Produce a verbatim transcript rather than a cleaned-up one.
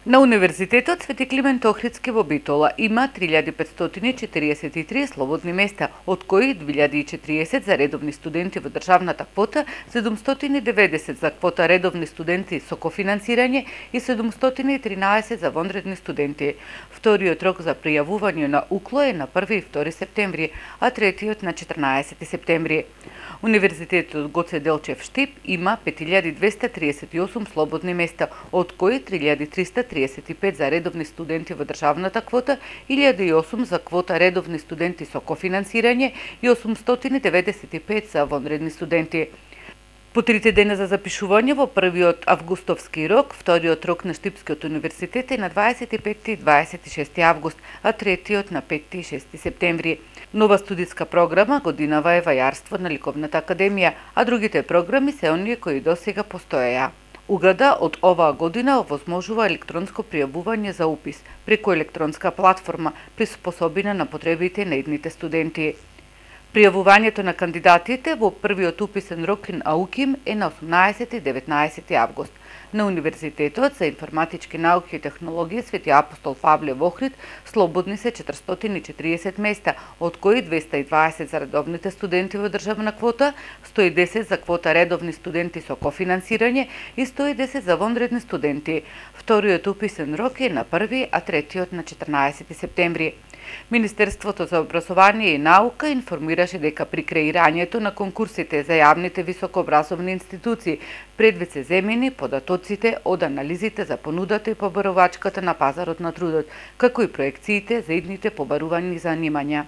На Универзитетот Свети Климент Охридски во Битола има три илјади петстотини четириесет и три слободни места, од кои две илјади и четириесет за редовни студенти во државната квота, седумстотини и деветдесет за квота редовни студенти со кофинансирање и седумстотини и тринаесет за вонредни студенти. Вториот рок за пријавување на УКЛО е на први и втори септември, а третиот на четрнаесети септември. Универзитетот Гоце Делчев Штип има пет илјади двесте триесет и осум слободни места, од кои три илјади триста триесет и пет за редовни студенти во државната квота, илјада и осум за квота редовни студенти со кофинансирање и осумстотини деветдесет и пет за вонредни студенти. По трите дена за запишување во првиот августовски рок, вториот рок на Штипскиот универзитет е на дваесет и петти и дваесет и шести август, а третиот на петти и шести септември. Нова студиска програма годинава е вајарство на Ликовната академија, а другите програми се оние кои досега постоеја. УГД од оваа година овозможува електронско пријавување за упис преку електронска платформа, приспособена на потребите на идните студенти. Пријавувањето на кандидатите во првиот уписен рок на УКИМ е на осумнаесети и деветнаесети август. На Универзитетот за информатички науки и технологии Свети Апостол Павле во Охрид слободни се четиристотини и четириесет места, од кои двесте и дваесет за редовните студенти во државна квота, сто и десет за квота редовни студенти со кофинансирање и сто и десет за вонредни студенти. Вториот уписен рок е на први, а третиот на четрнаесети септември. Министерството за образование и наука информираше дека при креирањето на конкурсите за јавните високообразовни институции предвид се земени податоците од анализите за понудата и побарувачката на пазарот на трудот, како и проекциите за идните побарувани занимања.